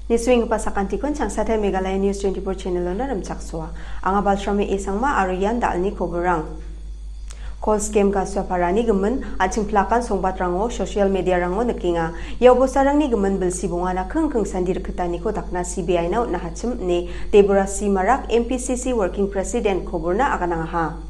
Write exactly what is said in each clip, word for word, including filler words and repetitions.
Nisuenggipa sakantikon Changsatai Meghalaya News twenty-four channel-ona rimchaksoa. Anga Balsrami Esangma aro ian da·alni koborrang. Kol skem Gasuaparani gimin an·ching plakan songbatrango, social media-rango nikenga. Ia obostarangni gimin bilsi bongana kingking sandi rikitaniko dakna C B I-na on·a hachim ine Deborasi Marak, M P C C Working President koborna aganangaha.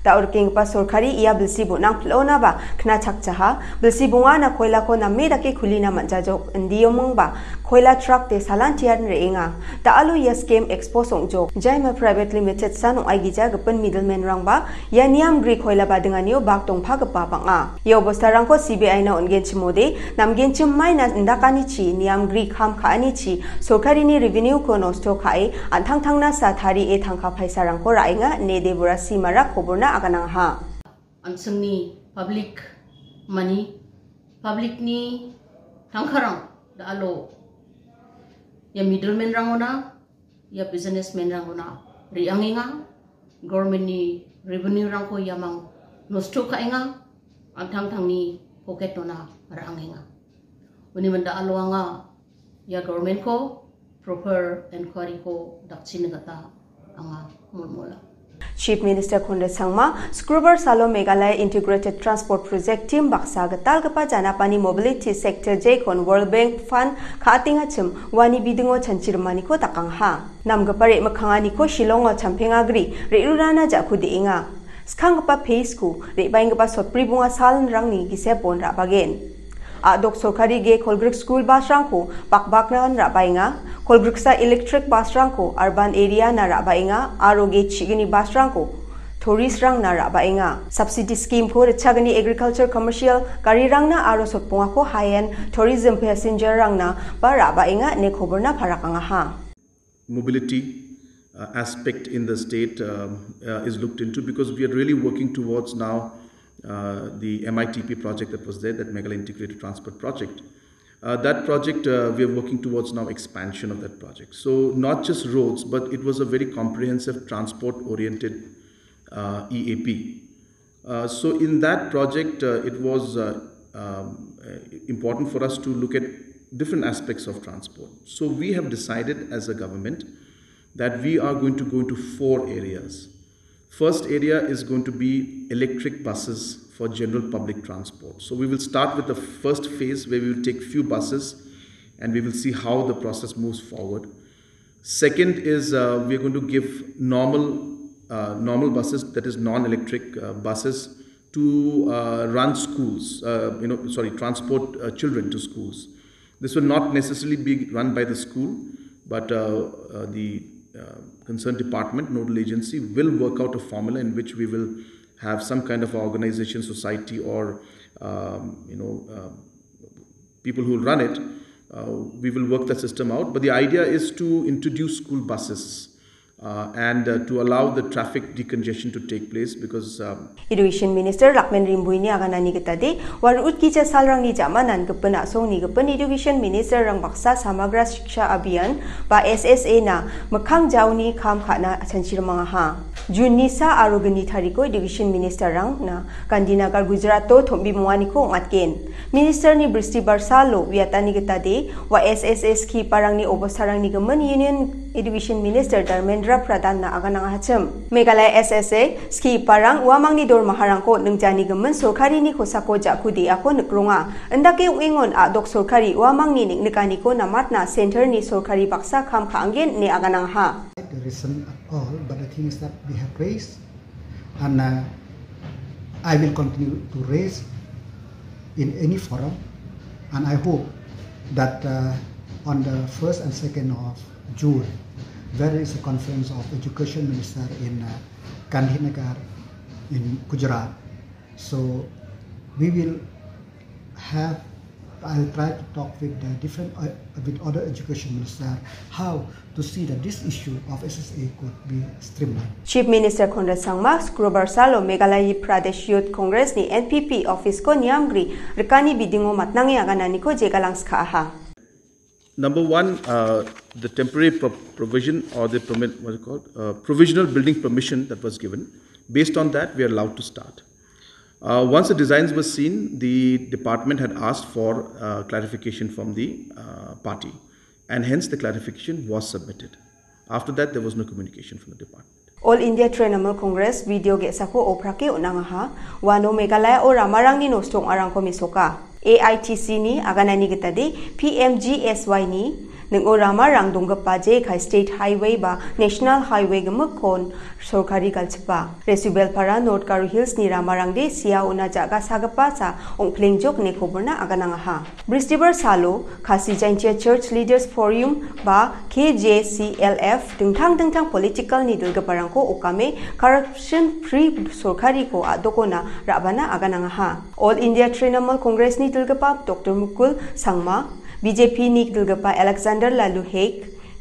Da·o rikenggipa sorkari ia bilsi bonang pil·onaba kna chakjaha, bilsi bongana koilako name dake kulina man·jajok, indiomingba koila truck-de salantian re·enga. Da·alo ia skem expose ong·jok, Jaima Private Limited san ong·aigija gipin middleman-rangba ia niamgri koila badinganio bak dongpagipa bang·a. Ia obostarangko C B I-na on·genchimode, namgenchim maina indakanichi, niamgri kam ka·anichi, sorkarini revenue-ko nosto ka·e, an·tangtangna sa tarie tangka paisarangko ra·enga, ine Deborasi Marak koborna aganangaha. An·chingni public money, public-ni tangkarang da·alo ia middleman-rangona, ia businessman-rangona re·angenga, government-ni revenue-rangko iamang nosto ka·enga, an·tangtangni pocket-ona ra·angenga. Uni manda alo anga ia government-ko proper enquiry-ko dakchina gita anga molmola. Chief Minister Conrad Sangma, Skrubar salo Meghalaya Integrated Transport Project team baksa gitalgipa janapani mobility sector jekon World Bank Fund ka·atengachim uani bidingo chanchirimaniko dakangaha. Namgipa re·mikkanganiko Shillongo champengagri re·rurana ja·ku de·enga. Skanggipa phase-ko re·baenggipa sotbri bonga salrangni gisepon ra·bagen. A·dok sorkari ge kolgrik skul bus-rangko bakbaknan ra·baenga, kolgriksa electric bus-rangko urban area-na ra·baenga aro ge chigni bus-rangko tourist-rangna ra·baenga. Subsidy scheme-ko ritchagni agriculture commercial garirangna aro sotbongako high-end tourism passenger-rangna ba ra·baenga ine koborna parakangaha. Mobility uh, aspect in the state um, uh, is looked into, because we are really working towards now uh, the M I T P project that was there, that Meghalaya Integrated Transport Project. Uh, that project, uh, we are working towards now expansion of that project. So not just roads, but it was a very comprehensive transport-oriented uh, E A P. Uh, so in that project, uh, it was uh, um, uh, important for us to look at different aspects of transport. So we have decided as a government that we are going to go into four areas. First area is going to be electric buses for general public transport. So we will start with the first phase where we will take few buses and we will see how the process moves forward. Second is uh, we are going to give normal uh, normal buses, that is non-electric uh, buses, to uh, run schools. Uh, you know, sorry, transport uh, children to schools. This will not necessarily be run by the school, but uh, uh, the uh, concerned department, nodal agency, will work out a formula in which we will have some kind of organization, society, or um, you know. Uh, people who run it, uh, we will work that system out. But the idea is to introduce school buses uh, and uh, to allow the traffic decongestion to take place because. Um, Education Minister Lakmen Rimbuini aganani gitade, waru utkija salrangni jamanan gipin asongni gipin Education Minister rang baksa Samagra Shiksha Abhiyan ba S S A na mikkang jaoni kam ka·na chanchirimangaha. June ni sa aro gni tariko Education Minister rangna Gandhinagar Gujarato tombimonganiko ong·atgen. Ministerni bristi barsalo uiatani gitade, ua S S A skiparangni obostarangni gimin Union Education Minister Dharmendra Pradhan-na aganangachim. Meghalaya S S A skiparang uamangni dormaharangko ningjani gimin sorkarini kosako ja·ku de·ako nikronga. Indake ong·engon a·dok sorkari uamangni neng·nikaniko namatna centerni sorkari baksa kam ka·anggen ine aganangaha. The reason at all, but the thing is that we have raised and uh, I will continue to raise in any forum, and I hope that uh, on the first and second of June, there is a conference of education minister in uh, Gandhinagar in Gujarat. So we will have, I'll try to talk with the different, uh, with other education minister how to see that this issue of S S A could be streamlined. Chief Minister Conrad Sangma, Skrubar salo Meghalaya Pradesh Youth Congress ni N P P office ko niamgri rikani bidingo matnange agananiko jegalang skaaha. Number one, uh, the temporary pro- provision or the permit, what is it called, uh, provisional building permission that was given. Based on that, we are allowed to start. Uh, once the designs were seen, the department had asked for uh, clarification from the uh, party. And hence the clarification was submitted. After that, there was no communication from the department. All India Trinamool Congress video ge·sako oprake on·angaha. Uano Meghalayao ramarangni nosto ong·arangko mesoka. A I T C ni aganani gitade P M G S Y ni ning·o ramarang donggipa jekai State Highway ba National Highway gimikkon sorkari galchipa. Resubelpara North Garo Hills ni ramarangde sia ona ja·ga sagipa sa ong·plengjok ine koborna aganangaha. Bristibar salo Khasi Jaintia Church Leaders Forum ba K J C L F dingtang dingtang political ni dilgiparangko okame corruption free sorkariko a·dokona ra·bana aganangaha. All India Trinamool Congress ni dilgipa Doctor Mukul Sangma, B J P ni dilgipa Alexander Lalu Hek,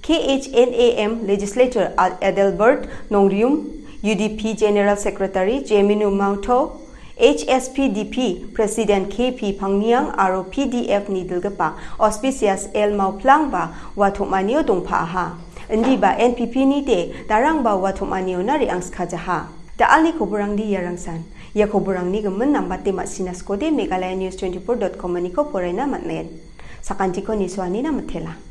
K H N A M legislator Ad-, Adelbert Nongrium, U D P General Secretary Jemino Mauto, H S P D P President K P Pangniang aro P D F ni dilgipa Auspicious L Mauplang ba ua tom·anio dongpa·aha. Indiba N P P ni de darangba ua tom·aniona re·angskajaha. Da·alni koborangde iarangsan. Ia koborangni gimin nambate ma·sina skode Meghalaya News twenty-four dot com-aniko poraina man·gen. Sakantiko nisuanina mitela.